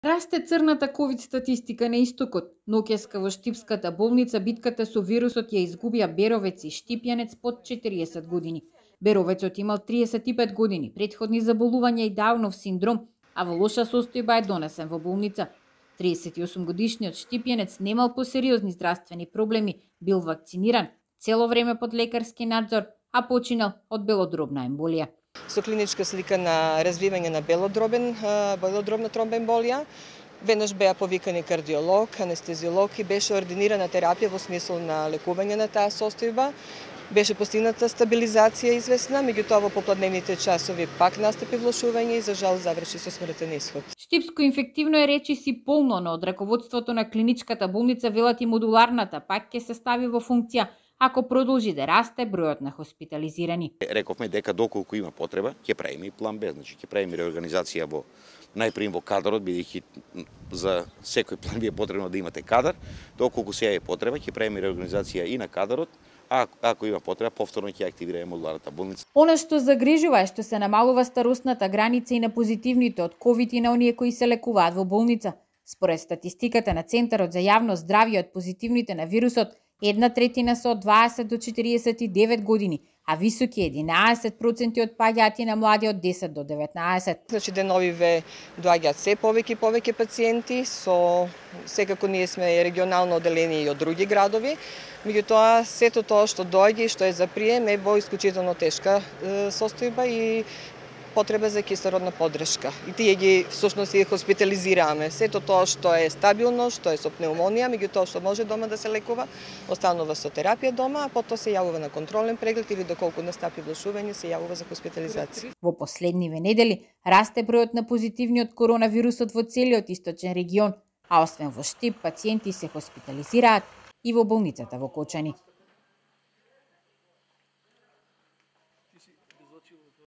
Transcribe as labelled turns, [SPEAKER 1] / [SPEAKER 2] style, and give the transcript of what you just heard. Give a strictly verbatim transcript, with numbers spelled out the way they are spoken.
[SPEAKER 1] Расте црната ковид статистика на истокот. Ноќеска во Штипската болница битката со вирусот ја изгубија Беровец и Штипјанец под четириесет години. Беровецот имал триесет и пет години, претходни заболувања и Даунов синдром, а во лоша состојба е донесен во болница. триесет и осум годишниот Штипјанец немал посериозни здравствени проблеми, бил вакциниран, цело време под лекарски надзор, а починал од белодробна емболија.
[SPEAKER 2] Со клиничка слика на развивање на белодробен, белодробна тромбоемболија, веднаш беа повикани кардиолог, анестезиолог и беше ординирана терапија во смисол на лекување на таа состојба. Беше постигната стабилизација известна, меѓутоа во попладневните часови пак настапи влошување и за жал заврши со смртен исход.
[SPEAKER 1] Штипско инфективно е речиси полно, но од раководството на клиничката болница велат и модуларната пак ќе се стави во функција ако продолжи да расте бројот на хоспитализирани.
[SPEAKER 3] Рековме дека доколку има потреба, ќе правиме и план Б, значи ќе правиме реорганизација во најприм во кадарот, бидејќи за секој план Б е потребно да имате кадар, доколку сега е потреба, ќе правиме реорганизација и на кадарот, а ако има потреба, повторно ќе активираме модуларната болница.
[SPEAKER 1] Она што загрижува е што се намалува старосната граница и на позитивните од ковид и на оние кои се лекуваат во болница. Според статистиката на Центарот за јавно здравје од позитивните на вирусот, една третина се од дваесет до четириесет и девет години, а високи единаесет проценти од паѓаати на млади од десет до деветнаесет.
[SPEAKER 2] Значи деновиве доаѓаат се повеќе и повеќе пациенти, со секако ние сме регионално оделени и од други градови, меѓутоа сето тоа што доаѓа и што е за прием е во исклучително тешка состојба и потреба за кислородна поддршка. И тие ги всушност ги хоспитализираме. Сето тоа што е стабилно, што е со пневмонија, меѓутоа што може дома да се лекува, останува со терапија дома, а потоа се јавува на контролен преглед или доколку настапи влошување се јавува за хоспитализација.
[SPEAKER 1] Во последниве недели расте бројот на позитивни од коронавирусот во целиот источен регион, а освен во Штип, пациенти се хоспитализираат и во болницата во Кочани.